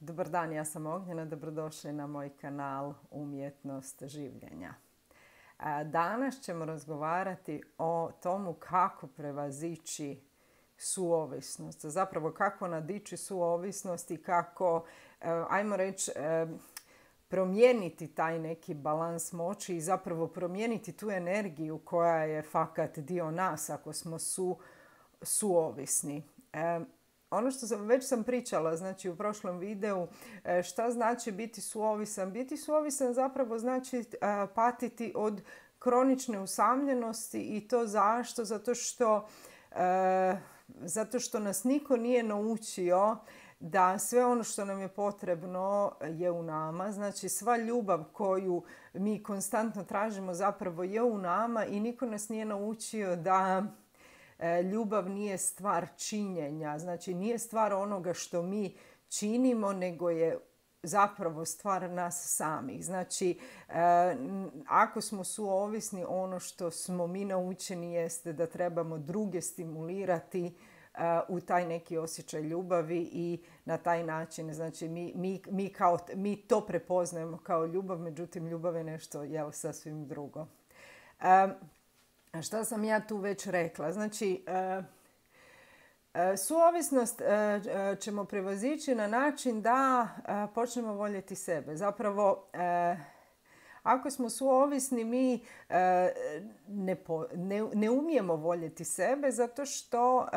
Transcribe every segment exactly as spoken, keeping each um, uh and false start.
Dobar dan, ja sam Ognjena, dobrodošli na moj kanal Umjetnost življenja. Danas ćemo razgovarati o tomu kako prevazići suovisnost, zapravo kako nadići suovisnost i kako, ajmo reći, promijeniti taj neki balans moći i zapravo promijeniti tu energiju koja je fakat dio nas ako smo su, suovisni. Ono što sam, već sam pričala, znači u prošlom videu, šta znači biti suovisan. Biti suovisan zapravo znači patiti od kronične usamljenosti i to zašto? Zato što, zato što nas niko nije naučio da sve ono što nam je potrebno je u nama. Znači sva ljubav koju mi konstantno tražimo zapravo je u nama i niko nas nije naučio da ljubav nije stvar činjenja. Znači nije stvar onoga što mi činimo, nego je zapravo stvar nas samih. Znači, ako smo suovisni, ono što smo mi naučeni jeste da trebamo druge stimulirati u taj neki osjećaj ljubavi i na taj način, znači mi, mi, mi, kao, mi to prepoznajemo kao ljubav, međutim ljubav je nešto jel, sasvim drugo. Šta sam ja tu već rekla? Znači, suovisnost ćemo prevazići na način da počnemo voljeti sebe. Zapravo, ako smo suovisni, mi ne, po, ne, ne umijemo voljeti sebe zato što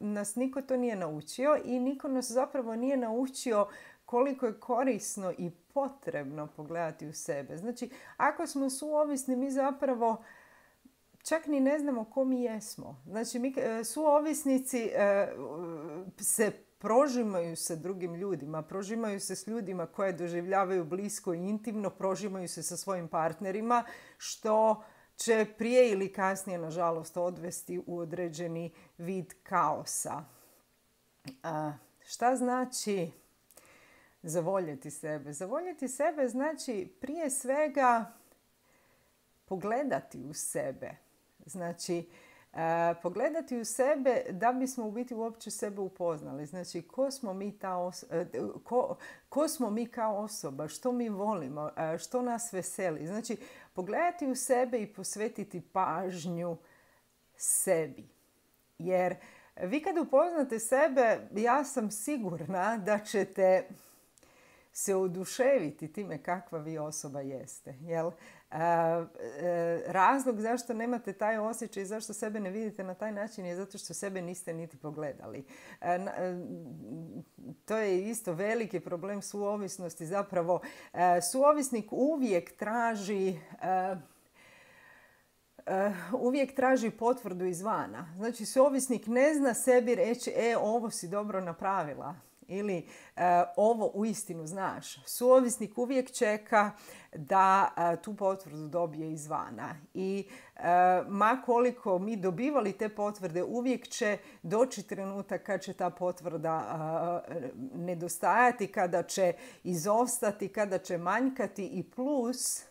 nas niko to nije naučio i niko nas zapravo nije naučio koliko je korisno i potrebno pogledati u sebe. Znači, ako smo suovisni, mi zapravo čak ni ne znamo ko mi jesmo. Znači, mi suovisnici se prožimaju sa drugim ljudima, prožimaju se s ljudima koje doživljavaju blisko i intimno, prožimaju se sa svojim partnerima, što će prije ili kasnije, nažalost, odvesti u određeni vid kaosa. A, šta znači zavoljeti sebe? Zavoljeti sebe znači prije svega pogledati u sebe. Znači, e, pogledati u sebe da bismo u biti uopće sebe upoznali. Znači, ko smo mi, ta os- ko, ko smo mi kao osoba, što mi volimo, što nas veseli. Znači, pogledati u sebe i posvetiti pažnju sebi. Jer vi kad upoznate sebe, ja sam sigurna da ćete se oduševiti time kakva vi osoba jeste. Jel? E, e, razlog zašto nemate taj osjećaj i zašto sebe ne vidite na taj način je zato što sebe niste niti pogledali. E, e, to je isto veliki problem suovisnosti. Zapravo, e, suovisnik uvijek traži... E, Uh, uvijek traži potvrdu izvana. Znači, suovisnik ne zna sebi reći, e, ovo si dobro napravila ili uh, ovo uistinu znaš. Suovisnik uvijek čeka da uh, tu potvrdu dobije izvana. I uh, ma koliko mi dobivali te potvrde, uvijek će doći trenutak kad će ta potvrda uh, nedostajati, kada će izostati, kada će manjkati i plus...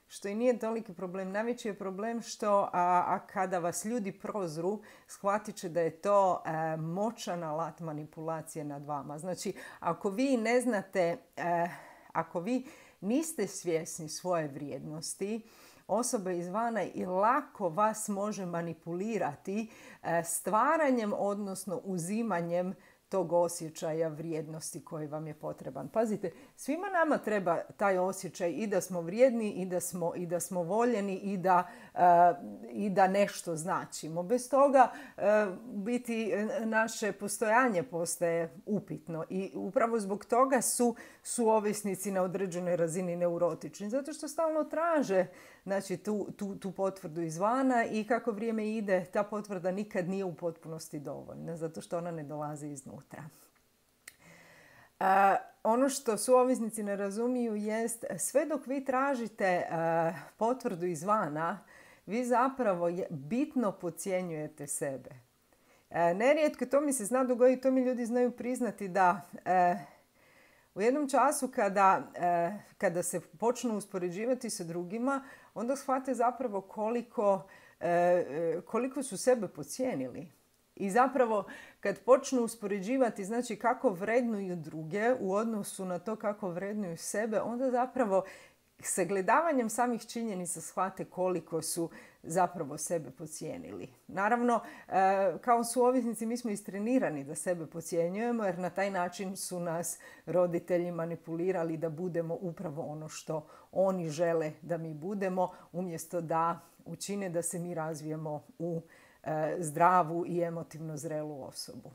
Što i nije toliki problem. Najveći je problem što a, a kada vas ljudi prozru, shvatit će da je to a, moćan alat manipulacije nad vama. Znači, ako vi ne znate, a, ako vi niste svjesni svoje vrijednosti, osoba izvana i lako vas može manipulirati a, stvaranjem, odnosno uzimanjem tog osjećaja vrijednosti koji vam je potreban. Pazite, svima nama treba taj osjećaj i da smo vrijedni i da smo, i da smo voljeni i da, uh, i da nešto značimo. Bez toga uh, biti naše postojanje postaje upitno i upravo zbog toga su suovisnici na određenoj razini neurotični. Zato što stalno traže znači, tu, tu, tu potvrdu izvana i kako vrijeme ide, ta potvrda nikad nije u potpunosti dovoljna, zato što ona ne dolazi iznutra. Uh, ono što suovisnici ne razumiju jest, sve dok vi tražite uh, potvrdu izvana, vi zapravo je, bitno podcjenjujete sebe. Uh, nerijetko to mi se zna dogoditi, to mi ljudi znaju priznati da uh, u jednom času kada, uh, kada se počnu uspoređivati sa drugima, onda shvate zapravo koliko, uh, koliko su sebe podcijenili. I zapravo kad počnu uspoređivati, znači kako vrednuju druge u odnosu na to kako vrednuju sebe, onda zapravo sagledavanjem samih činjenica shvate koliko su zapravo sebe podcijenili. Naravno, kao su ovisnici mi smo istrenirani da sebe podcjenjujemo jer na taj način su nas roditelji manipulirali da budemo upravo ono što oni žele da mi budemo, umjesto da učine da se mi razvijemo u zdravu i emotivno zrelu osobu.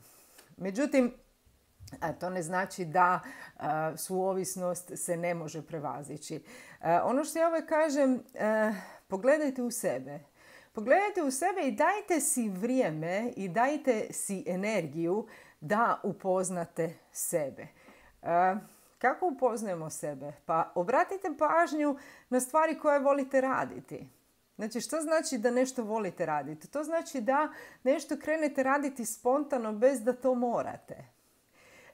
Međutim, to ne znači da suovisnost se ne može prevazići. Ono što ja uvijek kažem, pogledajte u sebe. Pogledajte u sebe i dajte si vrijeme i dajte si energiju da upoznate sebe. Kako upoznajemo sebe? Pa obratite pažnju na stvari koje volite raditi. Znači, što znači da nešto volite raditi? To znači da nešto krenete raditi spontano bez da to morate.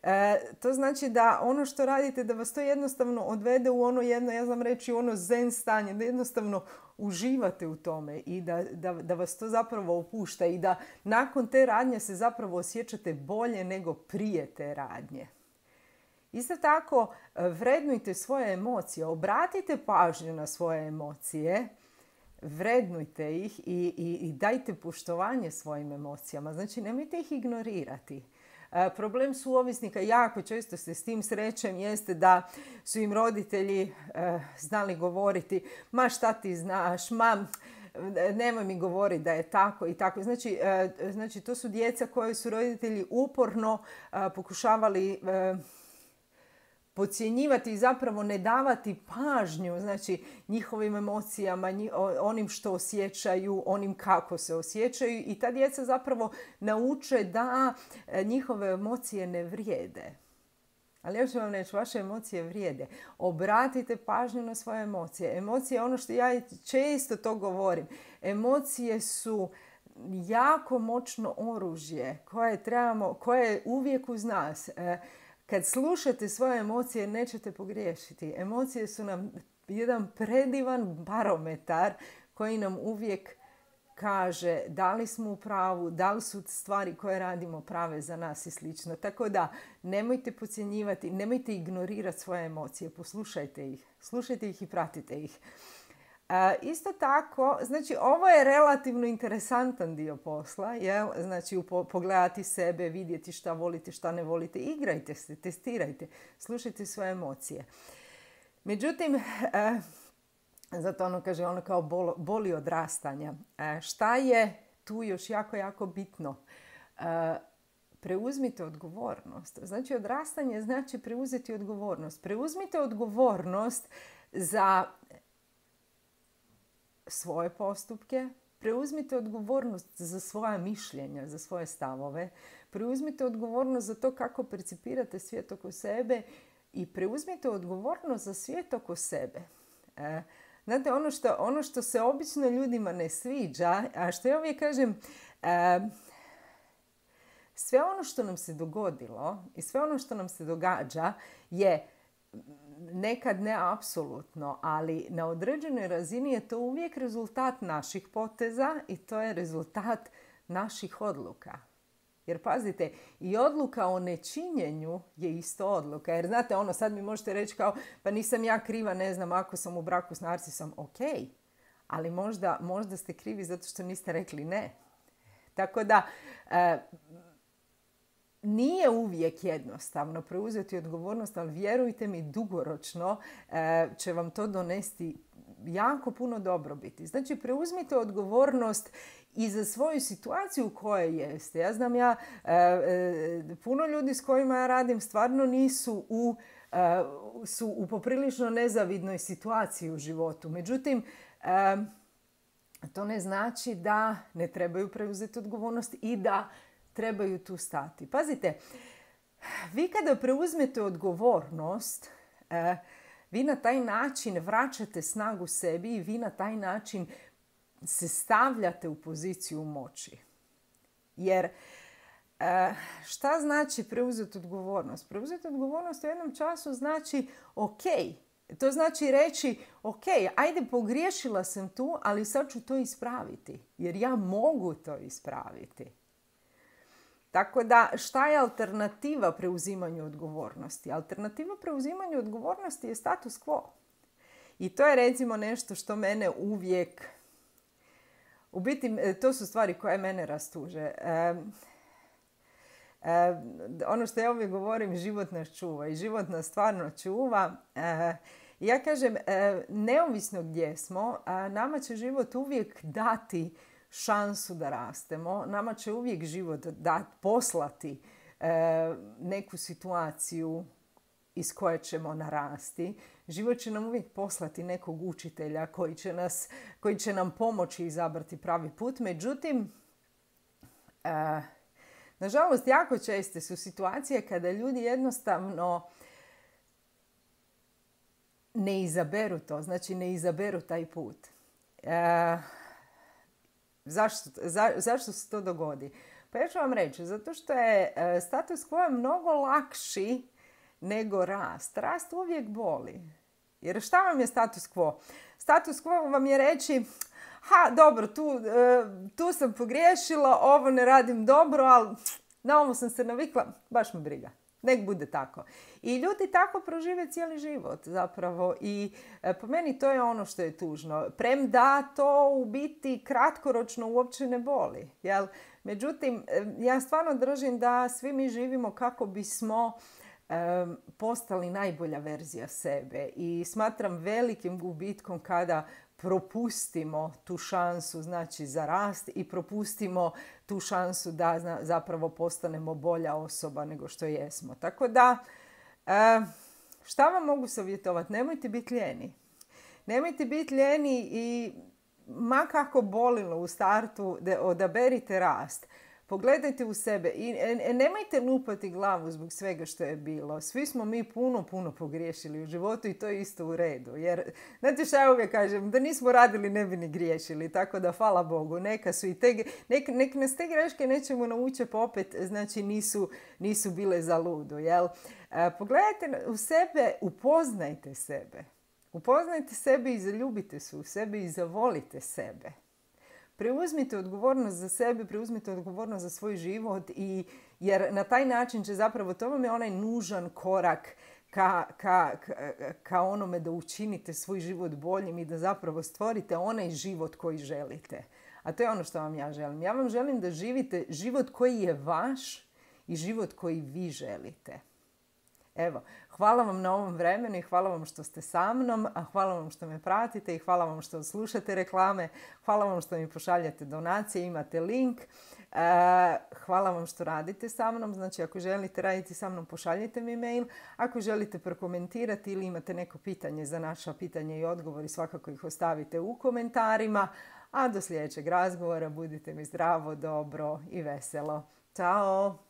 E, to znači da ono što radite, da vas to jednostavno odvede u ono jedno, ja znam reći, ono zen stanje, da jednostavno uživate u tome i da, da, da vas to zapravo opušta i da nakon te radnje se zapravo osjećate bolje nego prije te radnje. Isto tako, vrednujte svoje emocije, obratite pažnju na svoje emocije, vrednujte ih i, i, i dajte poštovanje svojim emocijama. Znači, nemojte ih ignorirati. E, problem suovisnika, jako često se s tim srećem, jeste da su im roditelji e, znali govoriti ma šta ti znaš, ma nemoj mi govoriti da je tako i tako. Znači, e, znači to su djeca koje su roditelji uporno e, pokušavali e, podcjenjivati i zapravo ne davati pažnju, znači, njihovim emocijama, onim što osjećaju, onim kako se osjećaju i ta djeca zapravo nauče da njihove emocije ne vrijede. Ali još ću vam reći, vaše emocije vrijede. Obratite pažnju na svoje emocije. Emocije, ono što ja često to govorim, emocije su jako moćno oružje koje trebamo, koje je uvijek uz nas. Kad slušate svoje emocije, nećete pogriješiti. Emocije su nam jedan predivan barometar koji nam uvijek kaže da li smo u pravu, da li su stvari koje radimo prave za nas i slično. Tako da nemojte podcjenjivati, nemojte ignorirati svoje emocije, poslušajte ih, slušajte ih i pratite ih. E, isto tako, znači ovo je relativno interesantan dio posla, jel? Znači pogledati sebe, vidjeti šta volite, šta ne volite, igrajte se, testirajte, slušajte svoje emocije. Međutim, e, zato ono kaže, ono kao bol, boli odrastanja. E, šta je tu još jako, jako bitno? E, preuzmite odgovornost. Znači odrastanje znači preuzeti odgovornost. Preuzmite odgovornost za svoje postupke, preuzmite odgovornost za svoja mišljenja, za svoje stavove, preuzmite odgovornost za to kako percipirate svijet oko sebe i preuzmite odgovornost za svijet oko sebe. E, znate, ono što, ono što se obično ljudima ne sviđa, a što ja uvijek kažem, e, sve ono što nam se dogodilo i sve ono što nam se događa je nekad ne apsolutno, ali na određenoj razini je to uvijek rezultat naših poteza i to je rezultat naših odluka. Jer pazite, i odluka o nečinjenju je isto odluka. Jer znate, ono sad mi možete reći kao, pa nisam ja kriva, ne znam, ako sam u braku s narcisom, ok. Ali možda, možda ste krivi zato što niste rekli ne. Tako da, e, nije uvijek jednostavno preuzeti odgovornost, ali vjerujte mi, dugoročno e, će vam to donesti jako puno dobrobiti. Znači, preuzmite odgovornost i za svoju situaciju u kojoj jeste. Ja znam, ja, e, e, puno ljudi s kojima ja radim stvarno nisu u, e, su u poprilično nezavidnoj situaciji u životu. Međutim, e, to ne znači da ne trebaju preuzeti odgovornost i da trebaju tu stati. Pazite, vi kada preuzmete odgovornost, e, vi na taj način vraćate snagu sebi i vi na taj način se stavljate u poziciju moći. Jer e, šta znači preuzeti odgovornost? Preuzeti odgovornost u jednom času znači ok. To znači reći ok, ajde pogriješila sam tu, ali sad ću to ispraviti. Jer ja mogu to ispraviti. Tako da, šta je alternativa preuzimanju odgovornosti? Alternativa preuzimanju odgovornosti je status quo. I to je recimo nešto što mene uvijek... U biti, to su stvari koje mene rastuže. E, e, ono što ja uvijek govorim, život nas čuva i život nas stvarno čuva. E, ja kažem, e, neovisno gdje smo, a nama će život uvijek dati šansu da rastemo. Nama će uvijek život da, poslati e, neku situaciju iz koje ćemo narasti. Život će nam uvijek poslati nekog učitelja koji će, nas, koji će nam pomoći izabrati pravi put. Međutim, e, nažalost, jako česte su situacije kada ljudi jednostavno ne izaberu to. Znači, ne izaberu taj put. E, zašto, za, zašto se to dogodi? Pa ja ću vam reći, zato što je e, status quo mnogo lakši nego rast. Rast uvijek boli. Jer šta vam je status quo? Status quo vam je reći, ha, dobro, tu, tu sam pogriješila, ovo ne radim dobro, ali na ovo sam se navikla, baš me briga. Nek bude tako. I ljudi tako prožive cijeli život zapravo. I po meni to je ono što je tužno. Premda to u biti kratkoročno uopće ne boli. Jel? Međutim, ja stvarno držim da svi mi živimo kako bismo Um, postali najbolja verzija sebe i smatram velikim gubitkom kada propustimo tu šansu, znači za rast, i propustimo tu šansu da zna, zapravo postanemo bolja osoba nego što jesmo. Tako da, um, šta vam mogu savjetovati? Nemojte biti lijeni. Nemojte biti lijeni i ma kako bolilo u startu, da odaberite rast. Pogledajte u sebe i nemojte lupati glavu zbog svega što je bilo. Svi smo mi puno, puno pogriješili u životu i to je isto u redu. Jer, znate šta ja uvijek kažem, da nismo radili ne bi ni griješili. Tako da, hvala Bogu, neka su i te, nek, nek nas te greške nećemo naučiti pa opet, znači nisu, nisu bile za ludu. Jel? E, pogledajte u sebe, upoznajte sebe. Upoznajte sebe i zaljubite se u sebe i zavolite sebe. Preuzmite odgovornost za sebe, preuzmite odgovornost za svoj život, i, jer na taj način će zapravo, to vam je onaj nužan korak ka, ka, ka, ka onome da učinite svoj život boljim i da zapravo stvorite onaj život koji želite. A to je ono što vam ja želim. Ja vam želim da živite život koji je vaš i život koji vi želite. Evo, hvala vam na ovom vremenu i hvala vam što ste sa mnom, a hvala vam što me pratite i hvala vam što slušate reklame, hvala vam što mi pošaljate donacije, imate link, e, hvala vam što radite sa mnom, znači ako želite raditi sa mnom pošaljite mi mail, ako želite prokomentirati ili imate neko pitanje za naša pitanja i odgovori, svakako ih ostavite u komentarima, a do sljedećeg razgovora budite mi zdravo, dobro i veselo. Ćao!